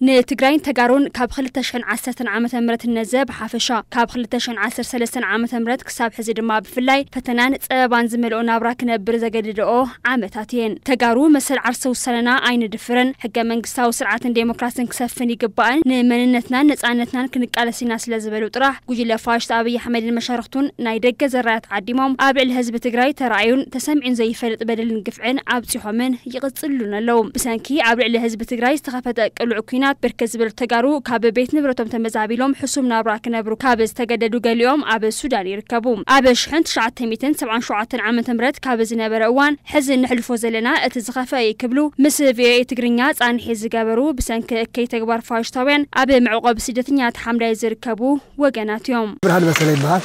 ንትግራይን ተጋሩን ካብ ክልተ ሽሕን ዓሰርተን ዓመተ ምህረት ነዘ ብሓፈሻ፣ ካብ ክልተ ሽሕን ዓሰርተ ሰለስተን ዓመተ ምህረት ክሳብ ሕዚ ድማ ብፍላይ ፈተናን ጸበባን ዝመልኦ ናብራ ክነብር ዘገድድኦ ዓመታት እየን። ተጋሩ መሰል ዓርሰ ውሳነና ኣይንድፍርን፣ ሕገ መንግስታዊ ስርዓትን ዴሞክራስን ክሰፍን ይግባእን፣ ንመንነትናን ነጻነትናን ክንቃለስ ኢና ስለ ዝበሉ ጥራሕ ጉጅለ ፋሽስት ኣብይ ኣሕመድን መሻርኽቱን ናይ ደገ ዘራያት ዓዲሞም ኣብ ልዕሊ ህዝቢ ትግራይ ተራእዩን ተሰሚዑን ዘይፈልጥ በደልን ግፍዕን ኣብጺሖምን ይቕጽሉን ኣለዉ። ብሰንኪ ኣብ ልዕሊ ህዝቢ ትግራይ ዝተኸፈተ ቅሉዕ ኲናት ብርክት ዝበሉ ተጋሩ ካብ ቤት ንብረቶም ተመዛቢሎም ሕሱም ናብራ ክነብሩ ካብ ዝተገደዱ ገሊኦም ኣብ ሱዳን ይርከቡ። ኣብ ሽሕን ትሽዓተ ሚእትን ሰብዓን ሸውዓተን ዓመተ ምህረት ካብ ዝነበረ እዋን ሕዚ ንሕልፎ ዘለና እቲ ዝኸፍአ እዩ ክብሉ ምስ ቪኦኤ ትግርኛ ጻንሒ ዝገበሩ ብሰንኪ እከይ ተግባር ፋሽስታውያን ኣብ መዕቆቢ ስደተኛታት ሓምዳይ ዝርከቡ ወገናት እዮም። ብርሃን መሰለ ይበሃል።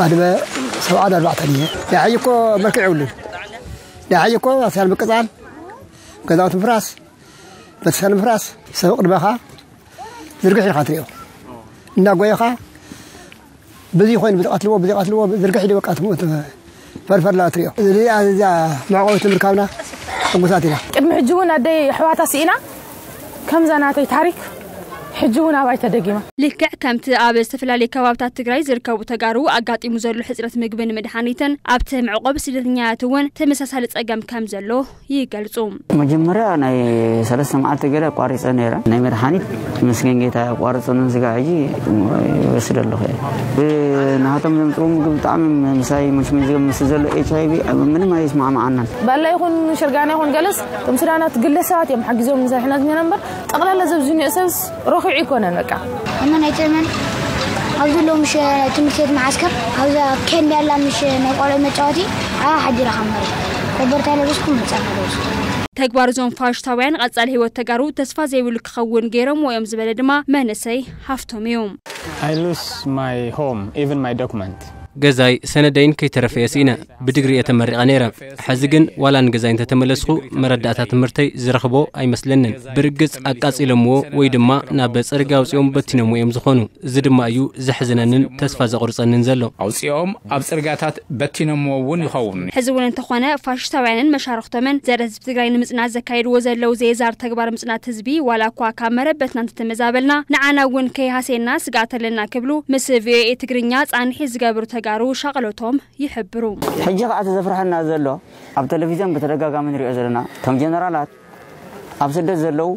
ዕድመ ሰብዓን ኣርባዕተን እየ። ናይ ሓይ እኮ መልክዕ የብሉን። ናይ ሓይ እኮ ኣስያን ምቅጻል፣ ገዛውቲ ምፍራስ፣ ቤተሰብ ምፍራስ፣ ሰብ ቅድመኻ ዝርግሕ ኢኻ ትሪኦ። እናጎየኻ ብዚ ኮይኑ ብዚ ቀትልዎ፣ ብዚ ቀትልዎ፣ ዝርግሕ ኢሉ በቃ ትሞት። ፈርፈር ላ ትሪኦ። እዚ፣ እዚኣ መዕቆቢት ምርካብና ሕጉሳት ኢና። ቅድሚ ሕጂ እውን ኣደይ ኣሕዋታ ስኢና፣ ከምዛ ናተይ ታሪክ ሕጂ እውን ኣባይ ተደጊማ። ልክዕ ከምቲ ኣብ ዝተፈላለዩ ከባብታት ትግራይ ዝርከቡ ተጋሩ ኣጋጢሙ ዘሎ ሕፅረት ምግብን መድሓኒትን፣ ኣብቲ መዕቆቢ ስደተኛታት እውን ተመሳሳሊ ፀገም ከም ዘሎ ይገልጹ። መጀመርያ ናይ ሰለስተ መዓልቲ ገለ ኣቋሪፀ ነይረ። ናይ መድሓኒት ምስገን ጌታ ኣቋርፀንን ስጋ ሕጂ ይወስድ ኣለኹ እየ። ናቶም ዘምፅኡ ምግቢ ብጣዕሚ ምሳይ ምስ፣ ምስ ዘሎ ኤች ኣይ ቪ ምንም ኣይስማዕማዓናን። ባላ ይኹን ሽርጋና ይኹን ገለስ፣ እቶም ሱዳናት ግለሰባት እዮም ሓጊዞም ንሰርሕና ዝነበረ እምበር፣ ጠቕላላ ዘብዚ ንእሰብስ ረኺዑ ኣይኮነን በቃ። እመን ኣይትእመን፣ ኣብ ዘለዉ ምሽ ትምህርቲ ቤት መዓስከር፣ ኣብዛ ኬንዳ ያላ ምሽ ናይ ቆልዑ መጫወቲ፣ ኣብኣ ሓዲራ ካብ መሬት ኮበርታ ለበስኩ፣ መጻፍ ለበስኩ። ተግባር እዞም ፋሽስታውያን ቀጻሊ ህይወት ተጋሩ ተስፋ ዘይብሉ ክኸውን ገይሮምዎ እዮም ዝበለ ድማ መንእሰይ ሃፍቶም እዩ። I lose my home, even my document. ገዛይ ሰነደይን ከይተረፈ እየ ስኢነ። ብድግሪ እየ ተመሪቐ ነይረ። ሕዚ ግን ዋላ ንገዛይ እንተተመለስኹ መረዳእታ ትምህርተይ ዝረኽቦ ኣይመስለንን። ብርግጽ ኣቃጺሎምዎ ወይ ድማ ናብ ጽርግያ ኣውጺኦም በቲኖምዎ እዮም ዝኾኑ። እዚ ድማ እዩ ዘሕዝነንን ተስፋ ዘቑርጸንን ዘሎ። ኣውጺኦም ኣብ ጽርግያታት በቲኖምዎ እውን ይኸውን። ሕዚ እውን እንተኾነ ፋሽስታውያንን መሻርኽቶምን ዘረ ህዝቢ ትግራይ ንምጽናት ዘካየድዎ ዘለዉ ዘየዛር ተግባር ምጽናት ህዝቢ ዋላ እኳ ካብ መረበትና እንተተመዛበልና ንዓና እውን ከይሃሴና ስግኣት ኣለና ክብሉ ምስ ቪኦኤ ትግርኛ ጻንሒ ዝገብሩ ተጋሩ ሻቕሎቶም ይሕብሩ። ሕጂ ከዓ እቲ ዘፍርሐና ዘሎ ኣብ ቴሌቪዝን ብተደጋጋሚ ንሪኦ ዘለና እቶም ጀነራላት ኣብ ስደት ዘለዉ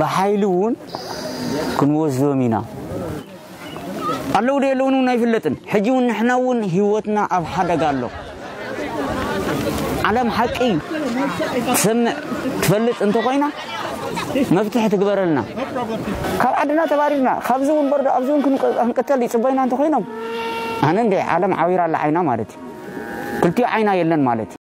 ብሓይሊ እውን ክንወስዶም ኢና ኣለዉ ዶ የለውን እውን ኣይፍለጥን። ሕጂ እውን ንሕና እውን ህይወትና ኣብ ሓደጋ ኣሎ። ዓለም ሓቂ ትሰምዕ ትፈልጥ እንተኮይና መፍትሒ ትግበረልና። ካብ ዓድና ተባሪርና ካብዚ እውን በርዶ ኣብዚ እውን ክንቅ- ክንቅተል ይፅበዩና እንተኮይኖም ኣነ እንደ ዓለም ዓዊራ ኣላ ዓይና ማለት እዩ። ክልቲኡ ዓይና የለን ማለት እዩ።